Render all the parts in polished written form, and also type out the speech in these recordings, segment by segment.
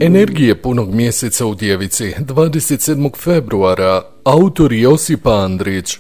Energije punog mjeseca u Djevici, 27. februara, autor Josip Andrić.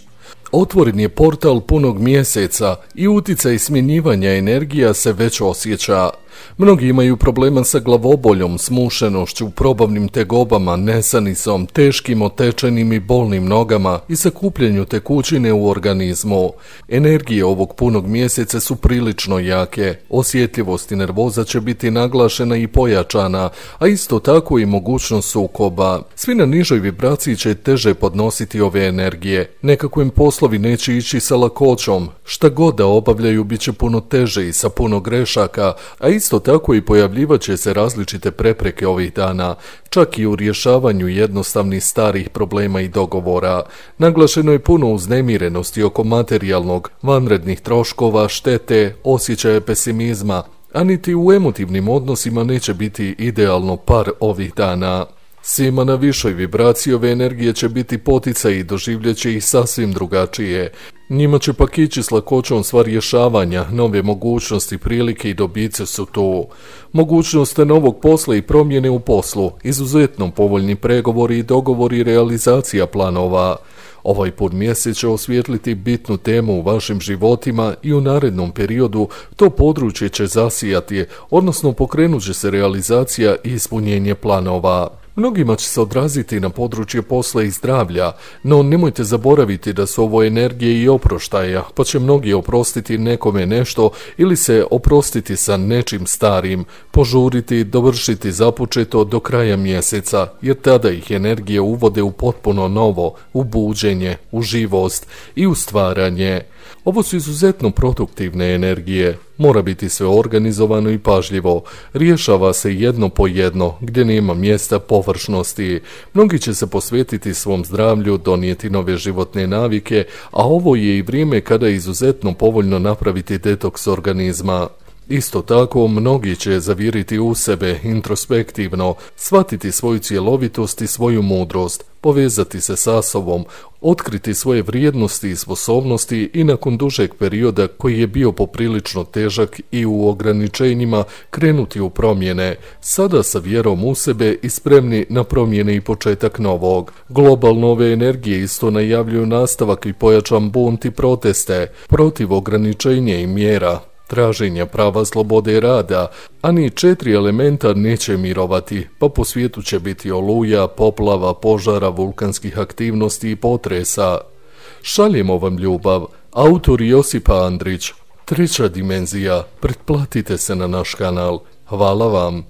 Otvoren je portal punog mjeseca i utjecaj smjenjivanja energija se već osjeća. Mnogi imaju problema sa glavoboljom, smušenošću, probavnim tegobama, nesanisom, teškim otečenim i bolnim nogama i sakupljanju tekućine u organizmu. Energije ovog punog mjeseca su prilično jake, osjetljivost i nervoza će biti naglašena i pojačana, a isto tako i mogućnost sukoba. Svi na nižoj vibraciji će teže podnositi ove energije, nekako im poslovi neće ići sa lakoćom, šta god da obavljaju bit će puno teže i sa puno grešaka, a isto tako i pojavljivat će se različite prepreke ovih dana, čak i u rješavanju jednostavnih starih problema i dogovora. Naglašeno je puno uznemirenosti oko materijalnog, vanrednih troškova, štete, osjećaja pesimizma, a niti u emotivnim odnosima neće biti idealno par ovih dana. Svima na višoj vibraciji ove energije će biti poticaj i doživljet će ih sasvim drugačije. Njima će pak ići s lakoćom sva rješavanja, nove mogućnosti, prilike i dobice su tu. Mogućnost novog posla i promjene u poslu, izuzetno povoljni pregovori i dogovori i realizacija planova. Ovaj pun mjesec će osvijetliti bitnu temu u vašim životima i u narednom periodu to područje će zasijati, odnosno pokrenut će se realizacija i ispunjenje planova. Mnogima će se odraziti na područje posla i zdravlja, no nemojte zaboraviti da su ovo energije i oproštaja, pa će mnogi oprostiti nekome nešto ili se oprostiti sa nečim starim, požuriti, dovršiti započeto do kraja mjeseca, jer tada ih energije uvode u potpuno novo, u buđenje, u živost i u stvaranje. Ovo su izuzetno produktivne energije. Mora biti sve organizovano i pažljivo. Rješava se jedno po jedno, gdje nema mjesta površnosti. Mnogi će se posvetiti svom zdravlju, donijeti nove životne navike, a ovo je i vrijeme kada je izuzetno povoljno napraviti detoks organizma. Isto tako, mnogi će zaviriti u sebe introspektivno, shvatiti svoju cjelovitost i svoju mudrost, povezati se sa sobom, otkriti svoje vrijednosti i sposobnosti i nakon dužeg perioda koji je bio poprilično težak i u ograničenjima krenuti u promjene, sada sa vjerom u sebe i spremni na promjene i početak novog. Globalno ove energije isto najavljuju nastavak i pojačan bunt i proteste protiv ograničenja i mjera, traženja prava slobode i rada, a ni 4 elementa neće mirovati, pa po svijetu će biti oluja, poplava, požara, vulkanskih aktivnosti i potresa. Šaljemo vam ljubav, autor Josip Andrić. 3. dimenzija, pretplatite se na naš kanal. Hvala vam.